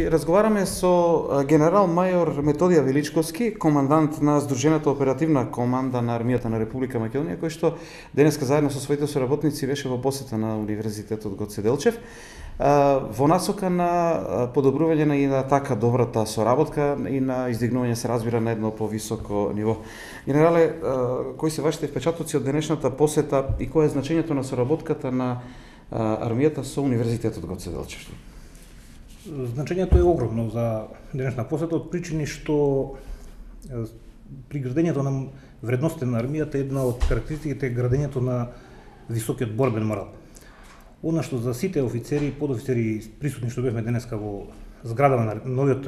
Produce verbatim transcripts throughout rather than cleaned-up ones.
Разговараме со генерал мајор Методија Величковски, командант на Здружената оперативна команда на Армијата на Република Македонија, кој што денеска заедно со своите соработници беше во посета на Универзитетот Гоце Делчев во насока на подобрување на и на така добрата соработка и на издигнување, се разбира, на едно повисоко ниво. Генерале, кои се вашите впечатоци од денешната посета и кој е значењето на соработката на армијата со Универзитетот Гоце Делчев? Значењето е огромно за денешна посета од причини што при градењето на вредностите на армијата една од карактеристиките е градењето на високиот борбен морал. Она што за сите офицери и подофицери присутни што бевме денеска во зградава на новиот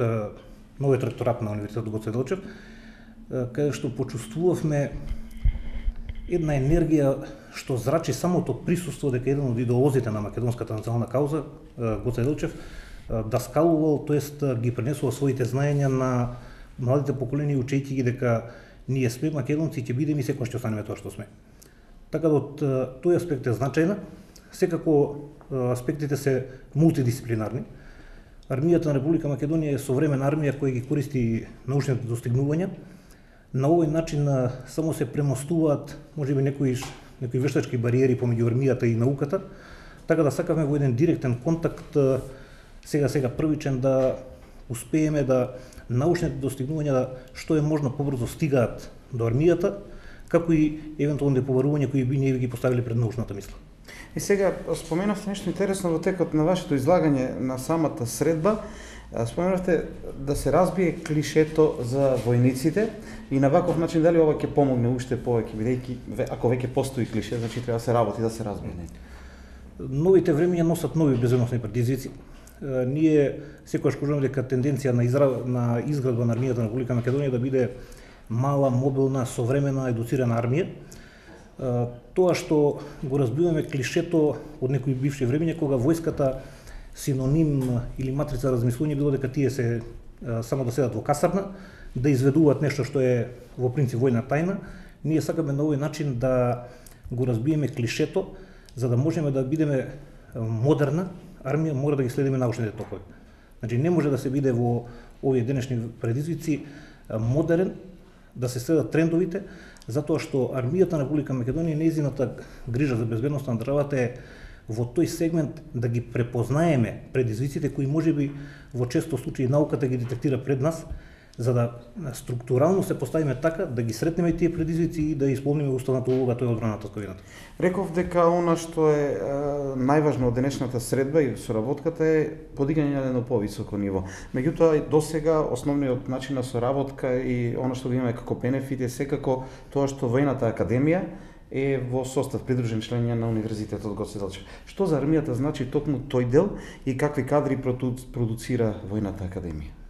новиот ректорат на Универзитетот Гоце Делчев, каде што почувствувавме една енергија што зрачи самото присуство дека еден од идеолозите на македонската национална кауза, Гоце Делчев, даскалувал, тоест ги пренесува своите знаења на младите поколенија, учејќи ги дека ние сме македонци и ќе бидеме и секогаш ќе останеме тоа што сме. Така да од тој аспект е значајна. Секако аспектите се мултидисциплинарни. Армијата на Република Македонија е современа армија која ги користи научните достигнувања. На овој начин само се премостуваат можеби некои некои вештачки бариери помеѓу армијата и науката, така да сакаме во еден директен контакт сега сега првичен да успееме да научните достигнувања што е можно побрзо стигаат до армијата, како и евентуални побарувања кои би ние ги поставили пред научната мисла. И сега споменавте нешто интересно во текот на вашето излагање на самата средба. Споменавте да се разбие клишето за војниците и на ваков начин дали ова ќе помогне уште повеќе, бидејќи ако веќе постои клише, значи треба да се работи да се разбие. Новите времиња носат нови безбедносни предизвици. Ние секогаш кажуваме дека тенденција на, изра... на изградба на армијата на Република Македонија да биде мала, мобилна, современа, едуцирана армија. Тоа што го разбиваме клишето од некои бивши времиња кога војската синоним или матрица размислување било дека тие се само да седат во касарна, да изведуваат нешто што е во принцип војна тајна. Ние сакаме на овој начин да го разбиеме клишето, за да можеме да бидеме модерна армија, мора да ги следиме научните токови. Значи не може да се биде во овие денешни предизвици модерен, да се следат трендовите, затоа што армијата на Република Македонија, нејзината грижа за безбедноста на државата е во тој сегмент да ги препознаеме предизвиците кои можеби во често случаи науката ги детектира пред нас, за да структурално се поставиме така да ги сретнеме тие предизвици и да исполниме уставната улога, тоа е одбраната од ковината. Реков дека она што е, е најважно од денешната средба и соработката е подигање на едно повисоко ниво. Меѓутоа досега основниот начин на соработка и она што го имаме како бенефит е секако тоа што војната академија е во состав придружен член на Универзитетот Гоце Делчев. Што за армијата значи токму тој дел и какви кадри продуцира војната академија?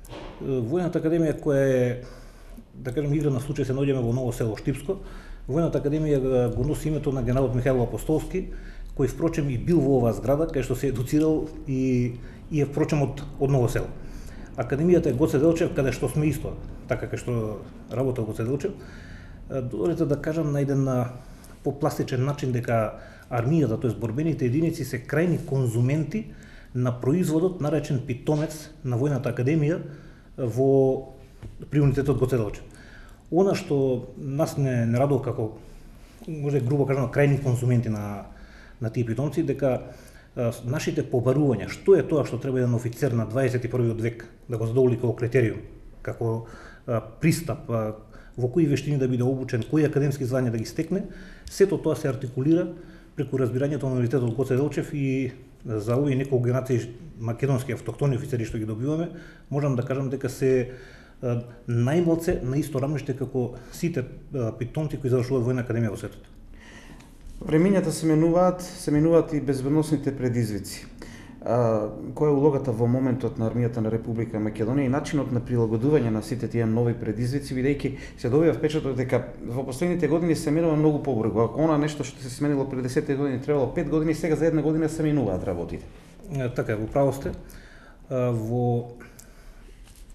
Војната академија која е, да кажем, игра на случај се наоѓаме во Ново село Штипско. Војната академија го носи името на генералот Михаил Апостолски, кој впрочем и бил во оваа зграда, кај што се едуцирал и, и е впрочем од, од Ново село. Академијата е Гоце Делчев, каде што сме исто, така кај што работел Гоце Делчев. Додолете да кажам на еден попластичен начин дека армијата, тоест борбените единици, се крајни конзументи на производот наречен питомец на војната академија во при Универзитетот Гоце Делчев. Она што нас не, не радува како, може грубо кажано, крајни конзументи на, на тие питомци, дека а, нашите побарувања, што е тоа што треба еден офицер на дваесет и првиот век да го задоволи како критериум, како а, пристап, а, во кои вештини да биде обучен, кои академски звања да ги стекне, сето тоа се артикулира преку разбирањето на Универзитетот Гоце Делчев и за овие неколку генерации македонски автохтони офицери што ги добиваме, можам да кажам дека се најмалце на исто рамниште како сите питомци кои завршуваат војна академија во светот. Времињата се менуваат, се менуваат и безбедносните предизвици. А, која е улогата во моментот на армијата на Република Македонија и начинот на прилагодување на сите тие нови предизвици, бидејќи се добива впечаток дека во последните години се менува многу побрзо. Ако она нешто што се сменило пред десет години требало пет години, сега за една година се менуваат работите. Така е, во право сте. Во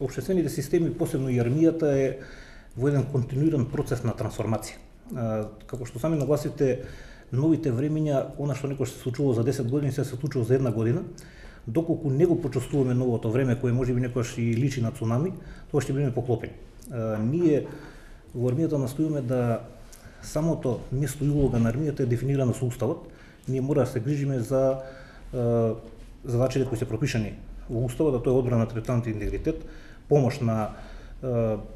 општествените системи, посебно и армијата, е во еден континуиран процес на трансформација. Како што сами нагласите, новите времиња, она што некој се случувало за десет години, се се случува за една година. доколку не го почувствуваме новото време кое можеби некогаш и личи на цунами, тоа ќе бидеме поклопени. Ние во армијата настојуваме да самото место и улога на армијата е дефинирано со уставот. Ние мора да се грижиме за задачите кои се пропишани во уставот, а тоа е одбрана на територијалниот интегритет, помош на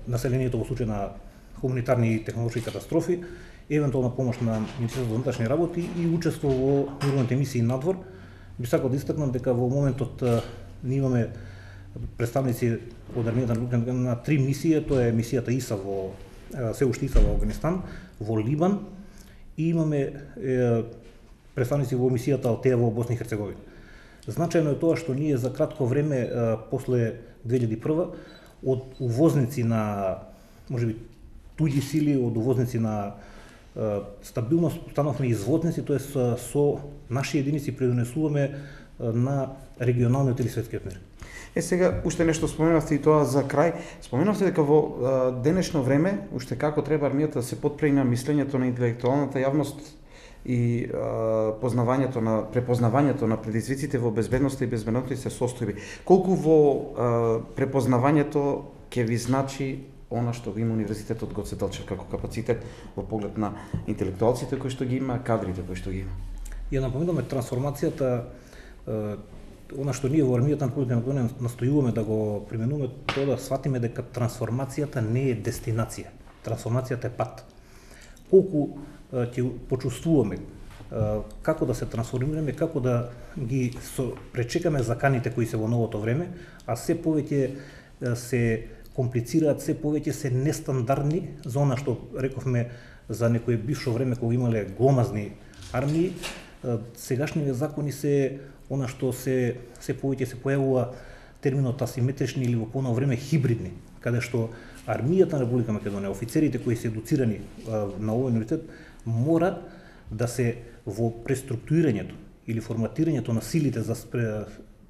населението во случај на хуманитарни и технолошки катастрофи, евентуална помош на Министерството за внатрешни работи и учество во мировните мисии надвор. Би сакал да истакнам дека во моментот ние имаме представници од армијата на, на три мисии, тоа е мисијата ИСА во се уште ИСА во Афганистан, во Либан и имаме е, представници во мисијата Алтеа во Босна и Херцеговина. Значајно е тоа што ние за кратко време е, после две илјади и прва од увозници на можеби туѓи сили, од увозници на е, стабилност станавме извозници, тоа со, со наши единици предонесуваме на регионалниот или светскиот мир. Е, сега, уште нешто споменавте и тоа за крај. Споменавте дека во а, денешно време, уште како треба армијата да се потпреми на мислењето на интелектуалната јавност и а, познавањето на препознавањето на предизвиците во безбедноста и безбеднотните состојби. Колку во а, препознавањето ќе ви значи она што го има Универзитетот Гоце Делчев како капацитет во поглед на интелектуалците кои што ги има, кадрите кои што ги има? Ја напоминаме трансформацијата, она што ние во армијата на Република Македонија настојуваме да го применуваме, тоа да сватиме дека трансформацијата не е дестинација, трансформацијата е пат. Колку ќе почувствуваме како да се трансформираме, како да ги пречекаме заканите кои се во новото време, а се повеќе се комплицираат, се повеќе се нестандардни за она што рековме за некое бившо време кога имале гломазни армии. Сегашните закони се она што се се повеќе се појавува терминот асиметрични или во поновно време хибридни, каде што армијата на Република Македонија, офицерите кои се едуцирани а, на овој универзитет, мора да се во преструктурирањето или форматирањето на силите за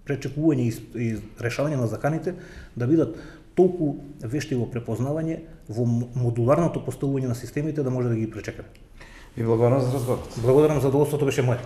пречекување и, и решавање на заканите да бидат толку вешти во препознавање, во модуларното поставување на системите да може да ги пречекаме. Ви благодарам за разговорот. Благодарам, задоволството беше моје.